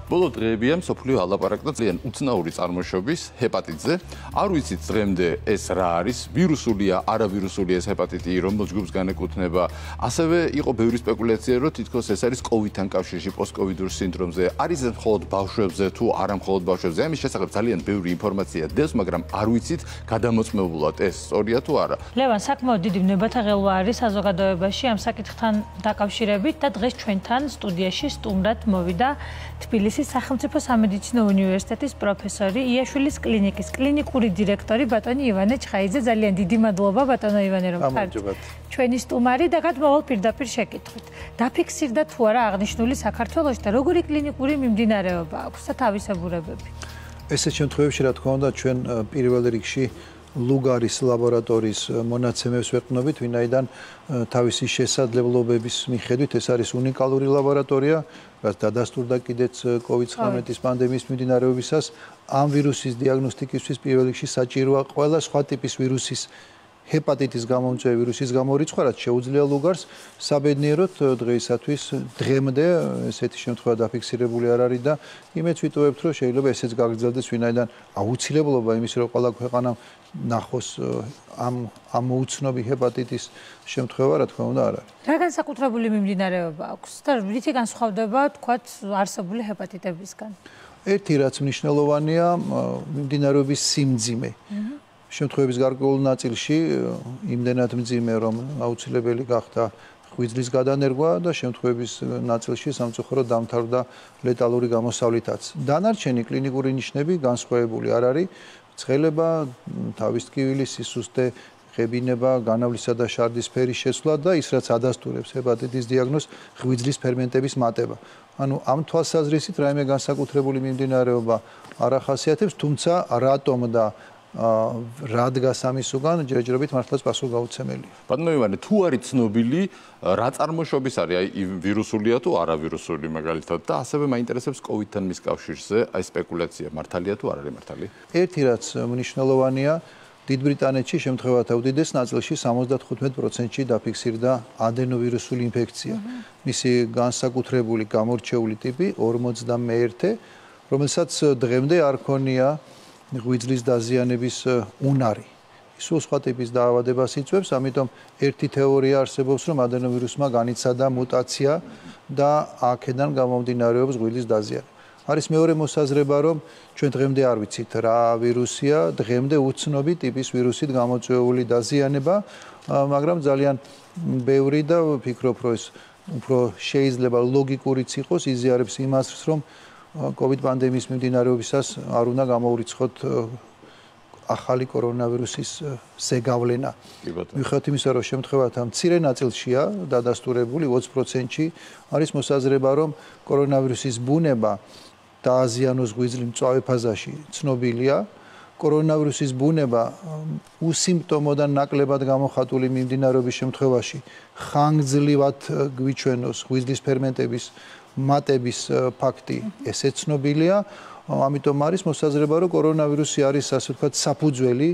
ბოლო დღეებია მსოფლიო ალაპარაკდა ძალიან უცნაური წარმოშობის ჰეპატიტზე. არ ვიცით დღემდე ეს რა არის, ვირუსულია, არავირუსულია ეს ჰეპატიტი, რომელ ჯგუფს განეკუთვნება. ასევე იყო ბევრი სპეკულაცია, რომ თითქოს ეს არის კოვიდთან კავშირში, პოსტკოვიდურ სინდრომზე. არის ეს მხოლოდ ბავშვებზე თუ არა მხოლოდ ბავშვებზე. ამის შესახებ ძალიან ბევრი ინფორმაცია დევს, მაგრამ არ ვიცით გადამოწმებულად ეს სწორია თუ არა. ლევან, საკმაოდ დიდი ვნებათა ღელვა არის საზოგადოებაში ამ საკითხთან დაკავშირებით და დღეს ჩვენთან სტუდიაში სტუმრად მოვიდა თბილისის სახელმწიფო სამედიცინო უნივერსიტეტის პროფესორი, იაშვილის კლინიკის კლინიკური დირექტორი ბატონი ივანე ჩხაიძე. ძალიან დიდი მადლობა ბატონო ივანე, რომ ხართ ჩვენი სტუმარი და გადმოვალ პირდაპირ შეკითხვით. დაფიქსირდა თუ არა აღნიშნული საქართველოში და როგორი კლინიკური მიმდინარეობა აქვს და თავისებურებები? ესეთ შემთხვევებში, რა თქმა უნდა, ჩვენ პირველ რიგში ლუგარის ლაბორატორიის მონაცემებს ვეყნობით, ვინაიდან თავისი შესაძლებლობების მიხედვით ეს არის უნიკალური ლაბორატორია, რაც დადასტურდა კიდეც COVID-19 პანდემიის მიმდინარეობისას. ამ ვირუსის დიაგნოსტიკისთვის პირველ რიგში საჭიროა ყველა სხვა ტიპის ვირუსის ჰეპატიტის გამომწვევი ვირუსის გამორიცხვა, რაც შეუძლია ლუგარს. საბედნიეროდ დღეისათვის დღემდე ესეთი შემთხვევა დაფიქსირებული არ არის და იმედს ვიტოვებთ, რომ შეიძლება ესეც გაგრძელდეს, ვინაიდან აუცილებლობა იმის, რომ ყველა ქვეყანამ ნახოს ამ უცნობი ჰეპატიტის შემთხვევა, რა თქმა უნდა, არ არის. რა განსაკუთრებული მიმდინარეობა აქვს და რითი განსხვავდება, თქვათ, არსებული ჰეპატიტებისგან? ერთი რაც მნიშვნელოვანია, მიმდინარეობის სიმძიმე. შემთხვევების გარკვეულ ნაწილში იმდენად მძიმე, რომ აუცილებელი გახდა ღვიძლის გადანერგვა და შემთხვევების ნაწილში სამწუხაროდ დამთავრდა ლეტალური გამოსავლითაც. დანარჩენი კლინიკური ნიშნები განსხვავებული არ არის. ცხელება, თავის ტკივილის სისუსტე, ღებინება, განავლისა და შარდის ფერის შეცვლა და ის რაც ადასტურებს ჰეპატიტის დიაგნოზს, ღვიძლის ფერმენტების მატება. ანუ ამ თვალსაზრისით რაიმე განსაკუთრებული მიმდინარეობა არ ახასიათებს, თუმცა რატომ და რა დგას ამის უკან, ჯერჯერობით მართლაც პასუხგაუცემელია. ბატონო ივანე, თუ არის ცნობილი, რა წარმოშობის არის, აი ვირუსულია თუ არავირუსული მაგალითად და ასევე მაინტერესებს კოვიდთან მის კავშირზე, აი სპეკულაცია მართალია თუ არ არის მართალი? ერთი რაც მნიშვნელოვანია, დიდ ბრიტანეთში შემთხვევათა უდიდეს ნაწილში 75%-ში დაფიქსირდა ადენოვირუსული ინფექცია. მისი განსაკუთრებული გამორჩეული ტიპი 41, რომელსაც დღემდე არ ქონია ღვიძლის დაზიანების უნარი. სულ სხვა ტიპის დაავადებას იწვევს, ამიტომ ერთი თეორია არსებობს, რომ ადენოვირუსმა განიცადა მუტაცია და აქედან გამომდინარეობს ღვიძლის დაზიანება. არის მეორე მოსაზრება, რომ ჩვენ დღემდე არ ვიცით რა ვირუსია, დღემდე უცნობი ტიპის ვირუსით გამოწვეული დაზიანება, მაგრამ ძალიან ბევრი და ვფიქრობ, რომ ეს უფრო შეიძლება ლოგიკურიც იყოს, იზიარებს იმას, რომ COVID პანდემიის მიმდინარეობისას არ უნდა გამოურიცხოთ ახალი კორონავირუსის ზეგავლენა. მიუხედავად იმისა, რომ შემთხვევათა მცირე ნაწილშია დადასტურებული 20%-ში, არის მოსაზრება, რომ კორონავირუსის ბუნება დააზიანოს ღვიძლი მწვავე ფაზაში ცნობილია. კორონავირუსის ბუნება უსიმპტომო და ნაკლებად გამოხატული მიმდინარეობის შემთხვევაში ხანგრძლივად გვიჩვენოს ღვიძლის ფერმენტების მატების ფაქტი, ესე ცნობილია. ამიტომ არის მოსაზრება, რომ კორონავირუსი არის ასე ვთქვათ საფუძველი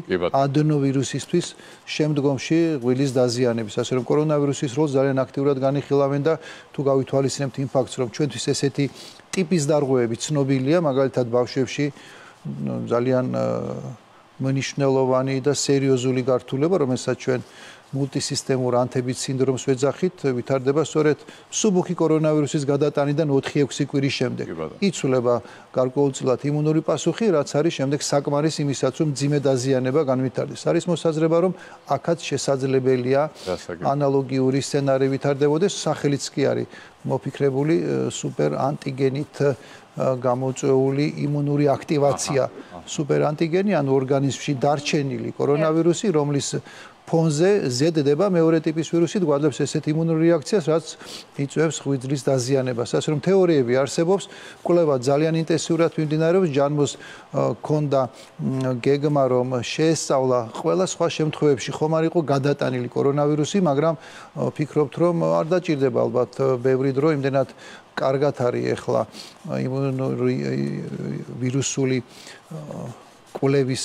ადენოვირუსისთვის შემდგომში ღვიძლის დაზიანების. ასე რომ კორონავირუსის როლს ძალიან აქტიურად განიხილავენ და თუ გავითვალისწინებთ იმ ფაქტს, რომ ჩვენთვის ესეთი ტიპის დარღვევები ცნობილია, მაგალითად ბავშვებში ძალიან მნიშვნელოვანი და სერიოზული გართულება, რომელსაც ჩვენ მულტისისტემურ ანთების სინდრომს ვეძახით, ვითარდება სწორედ მსუბუქი კორონავირუსის გადატანიდან 4-6 კვირის შემდეგ. იცვლება გარკვეულწილად იმუნური პასუხი, რაც არის შემდეგ საკმარის იმისაც, რომ მძიმე დაზიანება განვითარდეს. არის მოსაზრება, რომ აქაც შესაძლებელია ანალოგიური სცენარი ვითარდებოდეს, სახელიც კი არის მოფიქრებული სუპერ ანტიგენით გამოწვეული იმუნური აქტივაცია. სუპერ ანტიგენი, ანუ ორგანიზმში დარჩენილი კორონავირუსი, რომლის ფონზე ზედდება მეორე ტიპის ვირუსით, გვადლებს ესეთ იმუნურ რეაქციას, რაც იწვევს ღვიძლის დაზიანებას. ასე რომ თეორიები არსებობს, კვლევა ძალიან ინტენსიურად მიმდინარეობს, ჯანმოს ქონდა გეგმა, რომ შეესწავლა ყველა სხვა შემთხვევებში ხომ არ იყო გადატანილი კორონავირუსი, მაგრამ ვფიქრობთ, რომ არ დაჭირდება ალბათ ბევრი დრო, იმდენად კარგად არის ახლა იმუნური ვირუსული კვლევის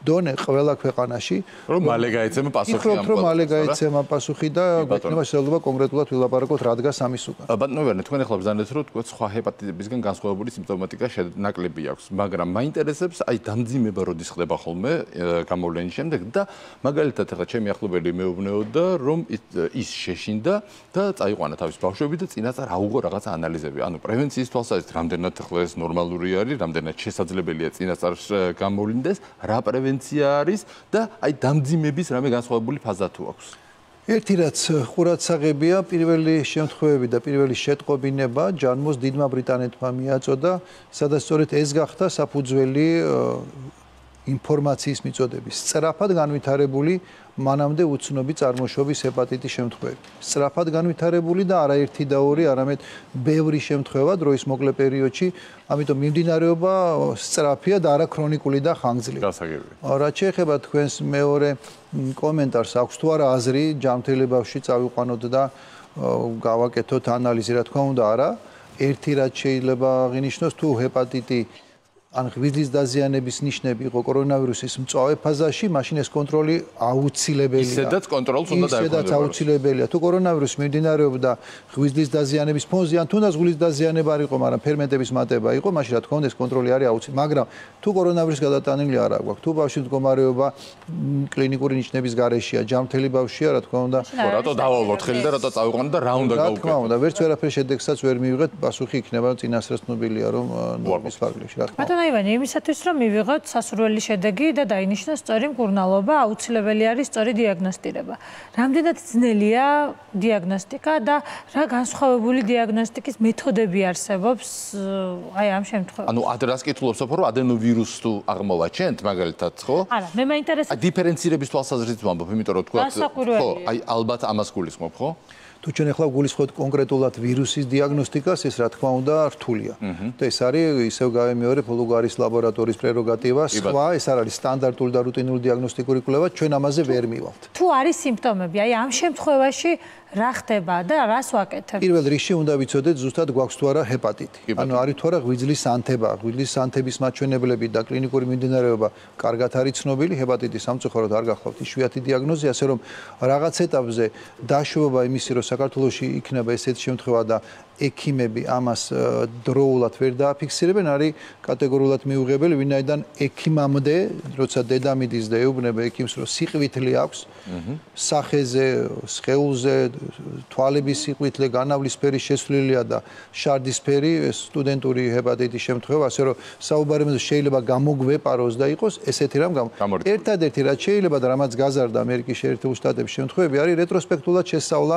დონე ყველა ქვეყანაში რომ მალე გაეცემა პასუხი ამ რომ მალე გაეცემა პასუხი და გვექნება შესაძლებლობა კონკრეტულად ვილაპარაკოთ რა დგას ამის უკან. ბატონო ვერნე, თქვენ ახლა ბრძანეთ რომ თქვენ სხვა ჰეპატიტებისგან განსხვავებული სიმპტომატიკა ნაკლები აქვს, მაგრამ მაინტერესებს აი დამძიმება როდის ხდება ხოლმე გამოვლენის შემდეგ და მაგალითად ახლა ჩემი ახლობელი მეუბნეოდა რომ ის შეშინდა და წაიყვანა თავის ბავშვები და წინასწარ აუღო რაღაცა ანალიზები. ანუ პრევენციის თვალსაზრისით რამდენად ახლა ეს ნორმალური არის, რამდენად შესაძლებელია წინასწარ გამოვლინდეს, რა პრევენცია არის და აი დამძიმების რამე განსხვავებული ფაზა თუ აქვს. ერთი რაც ყურადსაღებია, პირველი შემთხვევები და პირველი შეტყობინება ჯანმოს დიდმა ბრიტანეთმა მიაწოდა, სადაც სწორედ ეს გახდა საფუძველი ინფორმაციის მიწოდების სწრაფად განვითარებული მანამდე უცნობი წარმოშობის ჰეპატიტის შემთხვევები. სწრაფად განვითარებული და არაერთი და ორი, არამედ ბევრი შემთხვევა დროის მოკლე პერიოდში, ამიტომ მიმდინარეობა სწრაფია და არა ქრონიკული და ხანგრძლივი. გასაგებია. რაც შეეხება თქვენს მეორე კომენტარს, აქვს თუ არა აზრი ჯანმრთელი ბავშვი წავიყვანოთ და გავაკეთოთ ანალიზი, რა თქმა უნდა, არა. ერთი რაც შეიძლება აღინიშნოს, თუ ჰეპატიტი ან ღვიძლის დაზიანების ნიშნები იყო კორონავირუსის მწვავე ფაზაში, მაშინ ეს კონტროლი აუცილებელია. ისედაც კონტროლს უნდა დაეყოლება. ისედაც აუცილებელია. თუ კორონავირუსი მიმდინარეობდა ღვიძლის დაზიანების ფონზე, ან თუნდაც ღვიძლის დაზიანება არ იყო, მაგრამ ფერმენტების მატება იყო, მაშინ რა თქმა უნდა ეს კონტროლი არის აუცილებელი. მაგრამ თუ კორონავირუსი გადატანილი არ აქვს, თუ ბავშვის მდგომარეობა კლინიკური ნიშნების გარეშეა, ჯანმრთელი ბავშვია, რა თქმა უნდა, რატო დავავლოთ ხელი და რატო წავიყვანოთ და რა უნდა გავუკეთოთ? რა თქმა უნდა, ვერც ვერაფერ შედეგსაც ვერ მივიღეთ, პასუხი იქნება წინასწარ ცნობილია, რომ ნორმის ფარგლებში, რა თქმა უნდა. აივანი, იმისათვის რომ მივიღოთ სასურველი შედეგი და დაინიშნოს სწორი მკურნალობა, აუცილებელი არის სწორი დიაგნოსტირება. რამდენად ძნელია დიაგნოსტიკა და რა განსხვავებული დიაგნოსტიკის მეთოდები არსებობს აი ამ შემთხვევაში? ანუ ადრას კითხულობ სოფო, რომ ადენოვირუსს თუ აღმოვაჩენთ, მაგალითად, ხო? არა, მე მაინტერესებს დიფერენცირების თვალსაზრისით ვამბობ, იმიტომ რომ თქვა, ხო, აი ალბათ ამას გულისხმობ, ხო? თუ ჩვენ ახლა გულისხმობთ კონკრეტულად ვირუსის დიაგნოსტიკას, ეს რა თქმა უნდა რთულია. და ეს არის ისევ გავემეორებ ლუგარის ლაბორატორიის პრეროგატივა, სხვა ეს არ არის სტანდარტული და რუტინული დიაგნოსტიკური კვლევა, ჩვენ ამაზე ვერ მივალთ. თუ არის სიმპტომები, აი ამ შემთხვევაში რა ხდება და რას ვაკეთებ? პირველ რიგში უნდა ვიცოდეთ ზუსტად გვაქვს თუ არა ჰეპატიტი. ანუ არის თუ არა ღვიძლის ანთება, ღვიძლის ანთების მაჩვენებლები და კლინიკური მიმდინარეობა კარგად არის ცნობილი, ჰეპატიტის სამწუხაროდ არ გახლავთ იშვიათი დიაგნოზი, ასე რომ რაღაც ეტაპზე დაშვება იმისი, რომ საქართველოში იქნება ესეთი შემთხვევა და ექიმები ამას დროულად ვერ დააფიქსირებენ, არის კატეგორიულად მიუღებელი, ვინაიდან ექიმამდე, როცა დედამიდის და ეუბნება ექიმს, რომ სიყვითლე აქვს, სახეზე, სხეულზე, თვალების სიყვითლე, განავლისფერი შესვლილია და შარდისფერი სტუდენტური ჰეპატიტის შემთხვევა, ასე რომ საუბარემზე შეიძლება გამოგვეპაროს და იყოს ესეთი რამ ერთადერთი რაც შეიძლება და რამაც გაზარდა ამერიკის შეერთებულ შტატებში შემთხვევები არის რეტროსპექტულად შესწავლა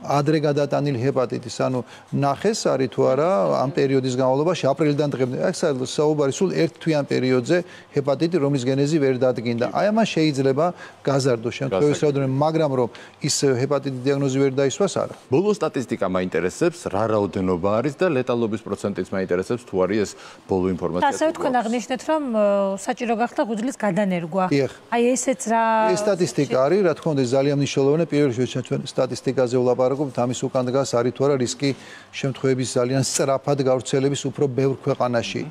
ადრე გადატანილი ჰეპატიტის, ანუ ნახეს არის თუ არა ამ პერიოდის განმავლობაში აპრილიდან დღემდე. აქ საუბარი სულ ერთ თვიან პერიოდზე ჰეპატიტი, რომლის გენეზი ვერ დადგინდა. აი ამას შეიძლება გაზარდოს შემთხვევის რაოდენობა, მაგრამ რომ ის ჰეპატიტის დიაგნოზი ვერ დაისვას, არა. ბოლო სტატისტიკა მაინტერესებს, რა რაოდენობა არის და ლეტალობის პროცენტიც მაინტერესებს, თუ არის ეს ბოლო ინფორმაცია. ასე თქვენ აღნიშნეთ, რომ საჭირო გახდა ღვიძლის გადანერგვა. აი ესეც რა ეს სტატისტიკა არის, რა თქმა უნდა, ძალიან მნიშვნელოვანია. პირველ რიგში ჩვენ სტატისტიკაზე ვლაპარაკობთ, ამის უკან დგას არის თუ არა რისკი შემთხვევების ძალიან სწრაფად გავრცელების უფრო ბევრ ქვეყანაში.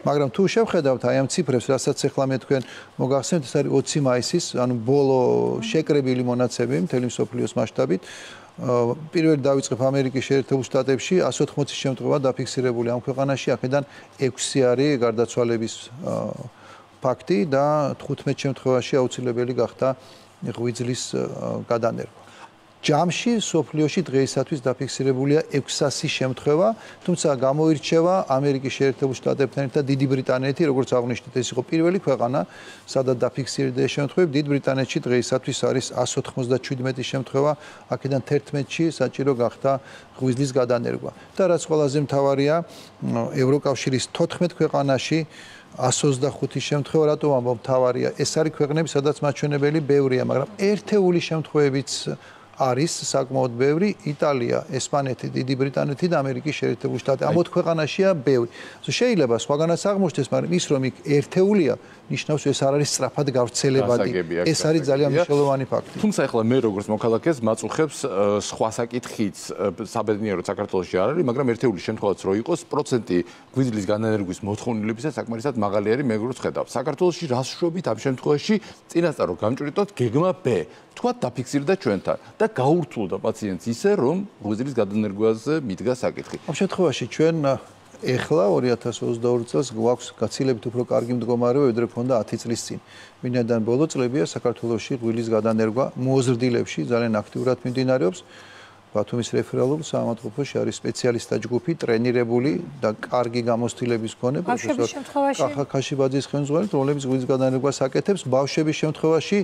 მაგრამ თუ შევხედავთ აი ამ ციფრებს, რასაც ახლა მე თქვენ მოგახსენებთ, ეს არის 20 მაისის, ანუ ბოლო შეკრებილი მონაცემი მთელი მსოფლიოს მასშტაბით. პირველი დავიწყებ ამერიკის შეერთებულ შტატებში 180 შემთხვევა დაფიქსირებული ამ ქვეყანაში, აქედან 6 არის გარდაცვალების ფაქტი და 15 შემთხვევაში აუცილებელი გახდა ღვიძლის გადანერგვა. ჯამში სოფლიოში დღეისათვის დაფიქსირებულია 600 შემთხვევა, თუმცა გამოირჩევა ამერიკის შეერთებულ შტატებთან ერთად დიდი ბრიტანეთი, როგორც აღნიშნეთ, ეს იყო პირველი ქვეყანა, სადაც დაფიქსირდა ეს შემთხვევები. დიდ ბრიტანეთში დღეისათვის არის 197 შემთხვევა, აქედან 11-ში საჭირო გახდა ღვიძლის გადანერგვა. და რაც ყველაზე მთავარია, ევროკავშირის 14 ქვეყანაში 125 შემთხვევა, რატომ ამბობ მთავარია? ეს არის ქვეყნები, სადაც მაჩვენებელი ბევრია, მაგრამ ერთეული შემთხვევებიც არის საკმაოდ ბევრი იტალია, ესპანეთი, დიდი ბრიტანეთი და ამერიკის შეერთებული შტატები. ამ ოთხ ქვეყანაშია ბევრი. შეიძლება სხვაგანაც აღმოჩნდეს, მაგრამ ის რომ იქ ერთეულია, ნიშნავს ეს არ არის სწრაფად გავრცელებადი. ეს არის ძალიან მნიშვნელოვანი ფაქტი. თუმცა ახლა მე როგორც მოქალაქეს მაწუხებს სხვა საკითხიც საბედნიეროდ საქართველოში არ არის, მაგრამ ერთეული შემთხვევაც რო იყოს, პროცენტი გვიძლის განანერგვის მოთხოვნილებისა საკმარისად მაღალი არის, მე როგორც ხედავ. საქართველოში რას ვშობით ამ შემთხვევაში წინასწარ რომ გამჭვრიტოთ გეგმა B. თქვათ დაფიქსირდა ჩვენთან და გაურთულდა პაციენტს ისე რომ გვიძლის განანერგვაზე მიდგა საკითხი. ამ შემთხვევაში ჩვენ ეხლა 2022 წელს გვაქვს გაცილებით უფრო კარგი მდგომარეობა, ვიდრე ქონდა 10 წლის წინ. ვინაიდან ბოლო წლებია საქართველოში გვილის გადანერგვა მოზრდილებში ძალიან აქტიურად მიმდინარეობს. ბათუმის რეფერალურ საავადმყოფოში არის სპეციალისტთა ჯგუფი, ტრენირებული და კარგი გამოცდილების მქონე პროფესორ კახა ქაშიბაძის ხელმძღვანელობით, რომლებიც გვილის გადანერგვას აკეთებს ბავშვების შემთხვევაში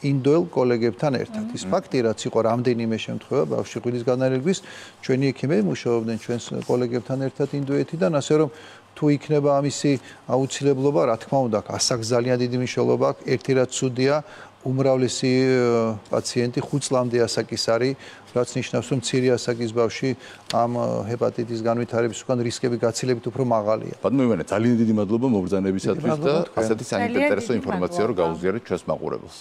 ინდოელ კოლეგებთან ერთად. ის ფაქტი, რაც იყო რამდენიმე შემთხვევა ბავშვი გვილის განანერგვის, ჩვენი ექიმები მუშაობდნენ ჩვენს კოლეგებთან ერთად ინდოეთიდან, ასე რომ თუ იქნება ამისი აუცილებლობა, რა თქმა უნდა, ასაკს ძალიან დიდი მნიშვნელობა აქვს. ერთი რაც ცუდია, უმრავლესი პაციენტი 5 წლამდე ასაკის არის, რაც ნიშნავს, რომ მცირე ასაკის ბავშვი ამ ჰეპატიტის განვითარების უკან რისკები გაცილებით უფრო მაღალია. ბატონო ივანე, ძალიან დიდი მადლობა მობრძანებისათვის და ასეთი საინტერესო ინფორმაცია რომ გაუზიარეთ ჩვენს მაყურებელს.